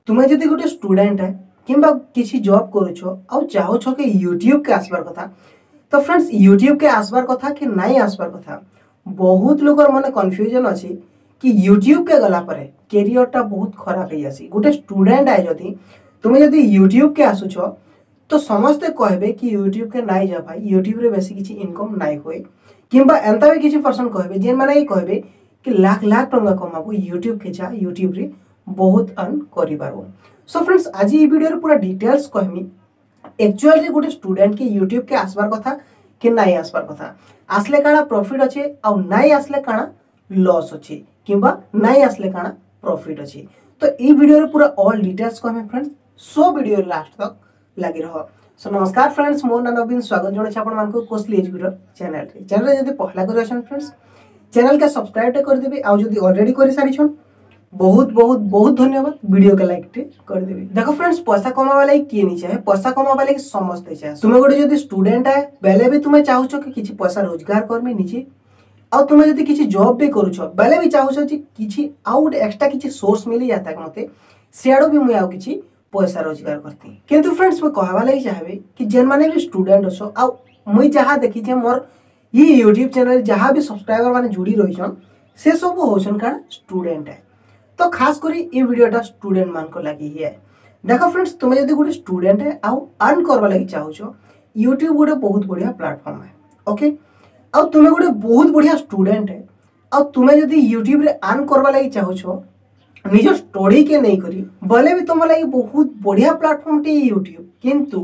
ତୁମେ ଯଦି ଗୋଟେ ଷ୍ଟୁଡେଣ୍ଟ ହେ କିମ୍ବା କିଛି ଜବ୍ କରୁଛ ଆଉ ଚାହୁଁଛ କି ୟୁଟ୍ୟୁବକେ ଆସିବାର କଥା, ତ ଫ୍ରେଣ୍ଡସ୍, ୟୁଟ୍ୟୁବକେ ଆସିବାର କଥା କି ନାଇଁ ଆସିବାର କଥା? ବହୁତ ଲୋକର ମନେ କନଫ୍ୟୁଜନ୍ ଅଛି କି ୟୁଟ୍ୟୁବକେ ଗଲା ପରେ କ୍ୟାରିୟରଟା ବହୁତ ଖରାପ ହେଇଯାସି। ଗୋଟେ ଷ୍ଟୁଡେଣ୍ଟ ଆଏ ଯଦି, ତୁମେ ଯଦି ୟୁଟ୍ୟୁବକେ ଆସୁଛ, ତ ସମସ୍ତେ କହିବେ କି ୟୁଟ୍ୟୁବକେ ନାଇଁ ଯା ଭାଇ, ୟୁଟ୍ୟୁବରେ ବେଶୀ କିଛି ଇନକମ୍ ନାଇଁ ହୁଏ। କିମ୍ବା ଏନ୍ତା ବି କିଛି ପର୍ସନ୍ କହିବେ ଯେନ୍ମାନେ କି କହିବେ କି ଲାଖ ଲାଖ ଟଙ୍କା କମାବୁ, ୟୁଟ୍ୟୁବକେ ଯା, ୟୁଟ୍ୟୁବରେ ବହୁତ ଅର୍ନ କରିପାରିବୁ। ସୋ ଫ୍ରେଣ୍ଡସ୍, ଆଜି ଏଇ ଭିଡ଼ିଓରେ ପୁରା ଡିଟେଲ୍ସ କହମି, ଆକ୍ଚୁଆଲି ଗୋଟେ ଷ୍ଟୁଡେଣ୍ଟ କି ୟୁଟ୍ୟୁବକେ ଆସିବାର କଥା କି ନାଇଁ ଆସିବାର କଥା, ଆସିଲେ କାଣା ପ୍ରଫିଟ୍ ଅଛି ଆଉ ନାଇଁ ଆସିଲେ କାଣା ଲସ୍ ଅଛି, କିମ୍ବା ନାଇଁ ଆସିଲେ କାଣା ପ୍ରଫିଟ୍ ଅଛି। ତ ଏଇ ଭିଡ଼ିଓରେ ପୁରା ଅଲ୍ ଡିଟେଲ୍ସ କହମି ଫ୍ରେଣ୍ଡସ୍। ସୋ ଭିଡ଼ିଓ ଲାଷ୍ଟ ତକ୍ ଲାଗି ରହ। ସୋ ନମସ୍କାର ଫ୍ରେଣ୍ଡସ୍, ମୋ ନାଁ ନବୀନ, ସ୍ୱାଗତ ଜଣାଉଛି ଆପଣମାନଙ୍କୁ କୋସଲି ଏଜୁକେଟର ଚ୍ୟାନେଲରେ। ଚ୍ୟାନେଲରେ ଯଦି ପହଲା କରି ଅଛନ୍ ଫ୍ରେଣ୍ଡସ୍, ଚ୍ୟାନେଲକେ ସବସ୍କ୍ରାଇବ୍ କରିଦେବେ ଆଉ ଯଦି ଅଲରେଡି କରି ସାରିଛନ୍, ବହୁତ ବହୁତ ବହୁତ ଧନ୍ୟବାଦ। ଭିଡ଼ିଓକେ ଲାଇକ୍ କରିଦେବେ। ଦେଖ ଫ୍ରେଣ୍ଡସ୍, ପଇସା କମାବା ଲାଗି କିଏ ନି ଚାହେ? ପଇସା କମାବା ଲାଗି ସମସ୍ତେ ଚାହେ। ତୁମେ ଗୋଟେ ଯଦି ଷ୍ଟୁଡେଣ୍ଟ ହେ ବେଲେ ବି ତୁମେ ଚାହୁଁଛ କି କିଛି ପଇସା ରୋଜଗାର କରମି ନିଜେ, ଆଉ ତୁମେ ଯଦି କିଛି ଜବ୍ ବି କରୁଛ ବେଲେ ବି ଚାହୁଁଛ ଯେ କିଛି ଆଉ ଗୋଟେ ଏକ୍ସଟ୍ରା କିଛି ସୋର୍ସ ମିଳି ଯାତା ମତେ, ସିଆଡ଼ୁ ବି ମୁଇଁ ଆଉ କିଛି ପଇସା ରୋଜଗାର କରତି। କିନ୍ତୁ ଫ୍ରେଣ୍ଡସ୍, ମୁଇଁ କହିବା ଲାଗି ଚାହିଁବି କି ଯେନ୍ମାନେ ବି ଷ୍ଟୁଡେଣ୍ଟ ଅଛ, ଆଉ ମୁଇଁ ଯାହା ଦେଖିଛେ, ମୋର ଇ ୟୁଟ୍ୟୁବ୍ ଚ୍ୟାନେଲ୍ ଯାହା ବି ସବସ୍କ୍ରାଇବର ମାନେ ଜୁଡ଼ି ରହିଛନ୍, ସେ ସବୁ ହଉଛନ୍ କାଣା ଷ୍ଟୁଡେଣ୍ଟ ହେ। ତ ଖାସ କରି ଏ ଭିଡ଼ିଓଟା ଷ୍ଟୁଡେଣ୍ଟ ମାନଙ୍କ ଲାଗି ହିଁ ହେ। ଦେଖ ଫ୍ରେଣ୍ଡସ୍, ତୁମେ ଯଦି ଗୋଟେ ଷ୍ଟୁଡେଣ୍ଟ ହେ ଆଉ ଅର୍ନ କରବା ଲାଗି ଚାହୁଁଛ, ୟୁଟ୍ୟୁବ୍ ଗୋଟେ ବହୁତ ବଢ଼ିଆ ପ୍ଲାଟଫର୍ମ ହେ, ଓକେ? ଆଉ ତୁମେ ଗୋଟେ ବହୁତ ବଢ଼ିଆ ଷ୍ଟୁଡେଣ୍ଟ ହେ ଆଉ ତୁମେ ଯଦି ୟୁଟ୍ୟୁବରେ ଅର୍ନ କରବା ଲାଗି ଚାହୁଁଛ ନିଜ ଷ୍ଟଡିକେ ନେଇକରି, ବୋଲେ ବି ତୁମ ଲାଗି ବହୁତ ବଢ଼ିଆ ପ୍ଲାଟଫର୍ମଟେ ୟୁଟ୍ୟୁବ୍। କିନ୍ତୁ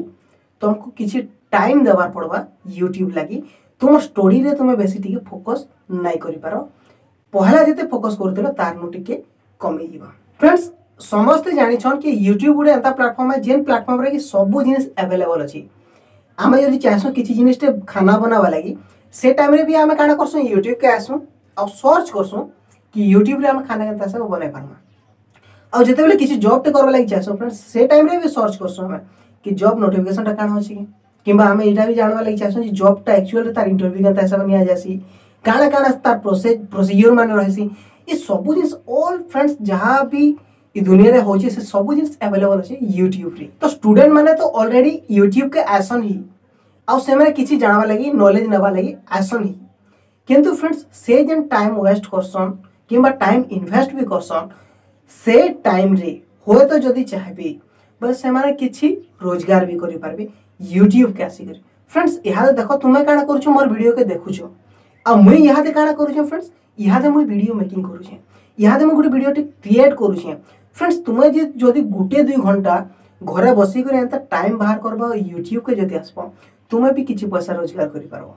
ତୁମକୁ କିଛି ଟାଇମ୍ ଦେବାର ପଡ଼ବା ୟୁଟ୍ୟୁବ୍ ଲାଗି। ତୁମ ଷ୍ଟଡିରେ ତୁମେ ବେଶୀ ଟିକେ ଫୋକସ୍ ନାଇଁ କରିପାର, ପହଲା ଯେତେ ଫୋକସ୍ କରୁଥିଲ ତାରନୁ ଟିକେ କମିଯିବ। ଫ୍ରେଣ୍ଡସ୍, ସମସ୍ତେ ଜାଣିଛନ୍ କି ୟୁଟ୍ୟୁବ୍ ଗୋଟେ ଏନ୍ତା ପ୍ଲାଟଫର୍ମ ହେ ଯେନ୍ ପ୍ଲାଟଫର୍ମରେ କି ସବୁ ଜିନିଷ ଆଭେଲେବଲ୍ ଅଛି। ଆମେ ଯଦି ଚାହେସୁଁ କିଛି ଜିନିଷଟେ ଖାନା ବନାବା ଲାଗି, ସେ ଟାଇମ୍ରେ ବି ଆମେ କାଣା କରସୁଁ? ୟୁଟ୍ୟୁବକେ ଆସୁଁ ଆଉ ସର୍ଚ୍ଚ କରସୁଁ କି ୟୁଟ୍ୟୁବରେ ଆମେ ଖାନା କେନ୍ତା ସବୁ ବନେଇ ପାର୍ମା। ଆଉ ଯେତେବେଳେ କିଛି ଜବ୍ଟେ କରବା ଲାଗି ଚାହେସୁଁ ଫ୍ରେଣ୍ଡସ୍, ସେ ଟାଇମ୍ରେ ବି ସର୍ଚ୍ଚ କରସୁଁ ଆମେ କି ଜବ୍ ନୋଟିଫିକେସନଟା କାଣା ଅଛି କି, କିମ୍ବା ଆମେ ଏଇଟା ବି ଜାଣବା ଲାଗି ଚାହେସୁଁ ଯେ ଜବ୍ଟା ଆକ୍ଚୁଆଲି ତାର ଇଣ୍ଟରଭ୍ୟୁ କେନ୍ତା ହିସାବରେ ନିଆଯାଏସି, କାଣା କାଣା ତାର ପ୍ରୋସିଜିଓର ମାନେ ରହିସି। ଏ ସବୁ ଜିନିଷ ଅଲ୍ ଫ୍ରେଣ୍ଡସ୍, ଯାହା ବି ଏ ଦୁନିଆରେ ହଉଛି, ସେ ସବୁ ଜିନିଷ ଆଭେଲେବଲ୍ ଅଛି ୟୁଟ୍ୟୁବରେ। ତ ଷ୍ଟୁଡେଣ୍ଟ ମାନେ ତ ଅଲରେଡି ୟୁଟ୍ୟୁବକେ ଆସନ୍ ହିଁ, ଆଉ ସେମାନେ କିଛି ଜାଣବା ଲାଗି, ନଲେଜ ନେବା ଲାଗି ଆସନ୍ ହିଁ। କିନ୍ତୁ ଫ୍ରେଣ୍ଡସ୍, ସେ ଯେନ୍ ଟାଇମ୍ ୱେଷ୍ଟ କରସନ୍ କିମ୍ବା ଟାଇମ୍ ଇନଭେଷ୍ଟ ବି କରସନ୍, ସେ ଟାଇମ୍ରେ ହୁଏତ ଯଦି ଚାହିଁବେ ବୋଲେ ସେମାନେ କିଛି ରୋଜଗାର ବି କରିପାରିବେ ୟୁଟ୍ୟୁବକେ ଆସିକରି। ଫ୍ରେଣ୍ଡସ୍, ଇହାଦେ ଦେଖ, ତୁମେ କାଣା କରୁଛ? ମୋର ଭିଡ଼ିଓକେ ଦେଖୁଛ। ଆଉ ମୁଇଁ ଇହାଦେ କାଣା କରୁଛେ ଫ୍ରେଣ୍ଡସ୍? ଇହାଦେ ମୁଇଁ ଭିଡ଼ିଓ ମେକିଂ କରୁଛେ, ଇହାଦେ ମୁଇଁ ଗୋଟେ ଭିଡ଼ିଓଟେ କ୍ରିଏଟ୍ କରୁଛେ। ଫ୍ରେଣ୍ଡସ୍, ତୁମେ ଯେ ଯଦି ଗୋଟେ ଦୁଇ ଘଣ୍ଟା ଘରେ ବସିକରି ଏନ୍ତା ଟାଇମ୍ ବାହାର କରବ, ୟୁଟ୍ୟୁବକେ ଯଦି ଆସିବ, ତୁମେ ବି କିଛି ପଇସା ରୋଜଗାର କରିପାରବ।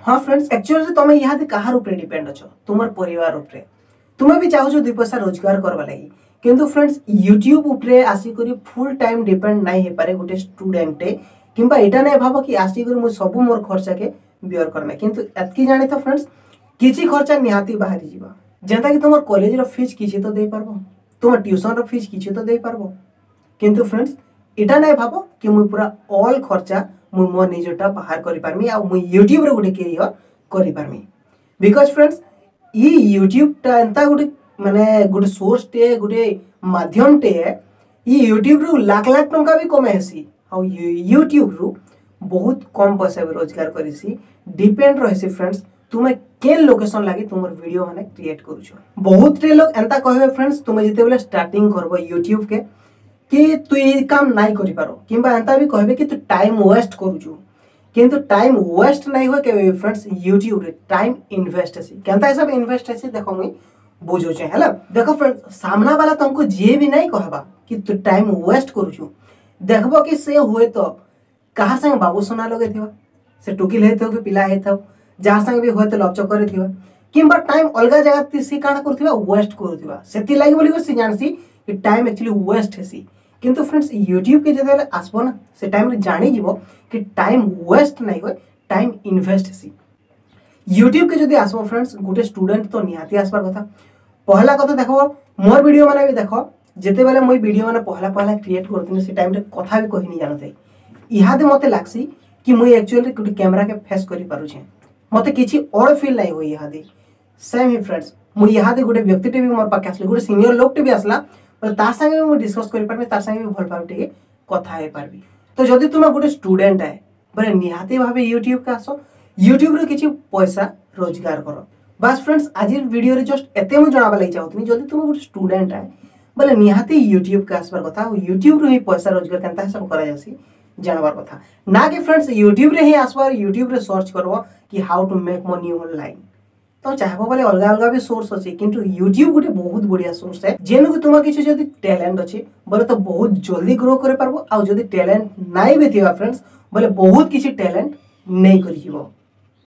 ହଁ ଫ୍ରେଣ୍ଡସ୍, ଆକ୍ଚୁଆଲି ତମେ ଇହାଦେ କାହାର ଉପରେ ଡିପେଣ୍ଡ ଅଛ? ତୁମର ପରିବାର ଉପରେ। ତୁମେ ବି ଚାହୁଁଛ ଦୁଇ ପଇସା ରୋଜଗାର କରବା ଲାଗି। କିନ୍ତୁ ଫ୍ରେଣ୍ଡସ୍, ୟୁଟ୍ୟୁବ୍ ଉପରେ ଆସିକରି ଫୁଲ୍ ଟାଇମ୍ ଡିପେଣ୍ଡ ନାଇଁ ହେଇପାରେ ଗୋଟେ ଷ୍ଟୁଡେଣ୍ଟଟେ, କିମ୍ବା ଏଇଟା ନାଇଁ ଭାବ କି ଆସିକରି ମୁଇଁ ସବୁ ମୋର ଖର୍ଚ୍ଚାକେ ବିୟର କରମେ। କିନ୍ତୁ ଏତ୍କି ଜାଣିଥ ଫ୍ରେଣ୍ଡସ୍, କିଛି ଖର୍ଚ୍ଚା ନିହାତି ବାହାରି ଯିବା, ଯେନ୍ତା କି ତୁମର କଲେଜର ଫିଜ୍ କିଛି ତ ଦେଇପାରବ, ତୁମ ଟ୍ୟୁସନର ଫିଜ୍ କିଛି ତ ଦେଇପାରବ। କିନ୍ତୁ ଫ୍ରେଣ୍ଡସ୍, ଏଇଟା ନାଇଁ ଭାବ କି ମୁଇଁ ପୁରା ଅଲ୍ ଖର୍ଚ୍ଚା ମୁଇଁ ମୋ ନିଜଟା ବାହାର କରିପାରମି ଆଉ ମୁଇଁ ୟୁଟ୍ୟୁବରେ ଗୋଟେ କ୍ୟାରିୟର କରିପାରମି। Because friends, ଇ ୟୁଟ୍ୟୁବଟା ଏନ୍ତା ଗୋଟେ ମାନେ ଗୋଟେ ସୋର୍ସଟେ, ଗୋଟେ ମାଧ୍ୟମଟେ। ଇ ୟୁଟ୍ୟୁବରୁ ଲାଖ ଲାଖ ଟଙ୍କା ବି କମେଇ ହେସି ଆଉ ୟୁଟ୍ୟୁବରୁ ବହୁତ କମ୍ ପଇସା ବି ରୋଜଗାର କରିସି। ଡିପେଣ୍ଡ ରହିସି ଫ୍ରେଣ୍ଡସ୍, ତୁମେ କେନ୍ ଲୋକେସନ୍ ଲାଗି ତୁମର ଭିଡ଼ିଓ ମାନେ କ୍ରିଏଟ୍ କରୁଛ। ବହୁତଟେ ଲୋକ ଏନ୍ତା କହିବେ ଫ୍ରେଣ୍ଡସ୍, ତୁମେ ଯେତେବେଳେ ଷ୍ଟାର୍ଟିଂ କରବ ୟୁଟ୍ୟୁବକେ, କି ତୁ ଏଇ କାମ ନାଇଁ କରିପାର, କିମ୍ବା ଏନ୍ତା ବି କହିବେ କି ତୁ ଟାଇମ୍ ୱେଷ୍ଟ କରୁଛୁ। କିନ୍ତୁ ଟାଇମ୍ ୱେଷ୍ଟ ନାଇଁ ହୁଏ କେବେ ଫ୍ରେଣ୍ଡସ୍ ୟୁଟ୍ୟୁବରେ, ଟାଇମ୍ ଇନଭେଷ୍ଟ ହେସି। କେନ୍ତା ହିସାବେ ଇନଭେଷ୍ଟ ହେସି, ଦେଖ, ମୁଇଁ ବୁଝଉଛେ ହେଲା। ଦେଖ ଫ୍ରେଣ୍ଡ, ସାମ୍ନା ବାଲା ତମକୁ ଯିଏ ବି ନାଇଁ କହବା କି ତୁ ଟାଇମ୍ ୱେଷ୍ଟ କରୁଛୁ, ଦେଖବ କି ସେ ହୁଏତ କାହା ସାଙ୍ଗେ ବାବୁ ସୁନା ଲଗେଇଥିବା, ସେ ଟୁକିଲ ହେଇଥାଉ କି ପିଲା ହେଇଥାଉ, ଯାହା ସାଙ୍ଗେ ବି ହୁଏତ ଲଭ ଚକରେ ଥିବା, କିମ୍ବା ଟାଇମ୍ ଅଲଗା ଜାଗା ସେ କାଣା କରୁଥିବା, ୱେଷ୍ଟ କରୁଥିବା। ସେଥିଲାଗି ବୋଲିକରି ସେ ଜାଣସି କି ଟାଇମ୍ ଆକ୍ଚୁଆଲି ୱେଷ୍ଟ ହେସି। କିନ୍ତୁ ଫ୍ରେଣ୍ଡସ୍, ୟୁଟ୍ୟୁବକେ ଯେତେବେଳେ ଆସିବ ନା, ସେ ଟାଇମ୍ରେ ଜାଣିଯିବ କି ଟାଇମ୍ ୱେଷ୍ଟ ନାଇଁ ହୁଏ, ଟାଇମ୍ ଇନଭେଷ୍ଟ ହେସି। ୟୁଟ୍ୟୁବକେ ଯଦି ଆସିବ ଫ୍ରେଣ୍ଡସ୍, ଗୋଟେ ଷ୍ଟୁଡେଣ୍ଟ ତ ନିହାତି ଆସିବାର କଥା। ପହଲା କଥା ଦେଖବ, ମୋର ଭିଡ଼ିଓ ମାନେ ବି ଦେଖ, ଯେତେବେଳେ ମୁଇଁ ଭିଡ଼ିଓ ମାନେ ପହଲା ପହଲା କ୍ରିଏଟ୍ କରୁଥିଲି, ସେ ଟାଇମ୍ରେ କଥା ବି କହିନି ଜାଣୁଥାଇ। ଇହାଦେ ମତେ ଲାଗ୍ସି କି ମୁଇଁ ଆକ୍ଚୁଆଲି ଗୋଟେ କ୍ୟାମେରାକେ ଫେସ୍ କରିପାରୁଛେ, ମତେ କିଛି ଅଡ୍ ଫିଲ୍ ନାଇଁ ହୁଏ ଇହାଦେ। ସେମ୍ ହିଁ ଫ୍ରେଣ୍ଡସ୍, ମୁଇଁ ଇହାଦେ ଗୋଟେ ବ୍ୟକ୍ତିଟେ ବି ମୋର ପାଖେ ଆସିଲେ, ଗୋଟେ ସିନିୟର ଲୋକଟେ ବି ଆସିଲା ବୋଲେ ତା ସାଙ୍ଗେ ବି ମୁଁ ଡିସ୍କସ୍ କରିପାରିବି, ତାର ସାଙ୍ଗେ ବି ଭଲ ଭାବେ ଟିକେ କଥା ହେଇପାରିବି। ତ ଯଦି ତୁମେ ଗୋଟେ ଷ୍ଟୁଡେଣ୍ଟ ଆଏ ବୋଲେ ନିହାତି ଭାବେ ୟୁଟ୍ୟୁବକେ ଆସ, ୟୁଟ୍ୟୁବରୁ କିଛି ପଇସା ରୋଜଗାର କର। ବାସ୍ ଫ୍ରେଣ୍ଡସ୍, ଆଜିର ଭିଡ଼ିଓରେ ଜଷ୍ଟ ଏତେ ମୁଁ ଜଣାବା ଲାଗି ଚାହୁଁଥିଲି, ଯଦି ତୁମେ ଗୋଟେ ଷ୍ଟୁଡେଣ୍ଟ ଆଏ ବୋଲେ ନିହାତି ୟୁଟ୍ୟୁବକେ ଆସିବାର କଥା ଆଉ ୟୁଟ୍ୟୁବରୁ ହିଁ ପଇସା ରୋଜଗାର କେନ୍ତା ହିସାବ କରାଯାସି ଜାଣବାର କଥା। ନା କି ଫ୍ରେଣ୍ଡସ୍ ୟୁଟ୍ୟୁବରେ ହିଁ ଆସିବାର, ୟୁଟ୍ୟୁବରେ ସର୍ଚ୍ଚ କରବ କି how to make money online. ତ ଚାହିଁବ ବୋଲେ ଅଲଗା ଅଲଗା ବି ସୋର୍ସ ଅଛି, କିନ୍ତୁ ୟୁଟ୍ୟୁବ ଗୋଟେ ବହୁତ ବଢ଼ିଆ ସୋର୍ସ ହେ, ଯେନକୁ ତୁମର କିଛି ଯଦି ଟ୍ୟାଲେଣ୍ଟ ଅଛି ବୋଲେ ତ ବହୁତ ଜଲ୍ଦି ଗ୍ରୋ କରିପାରବ, ଆଉ ଯଦି ଟ୍ୟାଲେଣ୍ଟ ନାଇଁ ବି ଥିବା ଫ୍ରେଣ୍ଡସ୍ ବୋଲେ ବହୁତ କିଛି ଟ୍ୟାଲେଣ୍ଟ ନେଇ କରିଯିବ।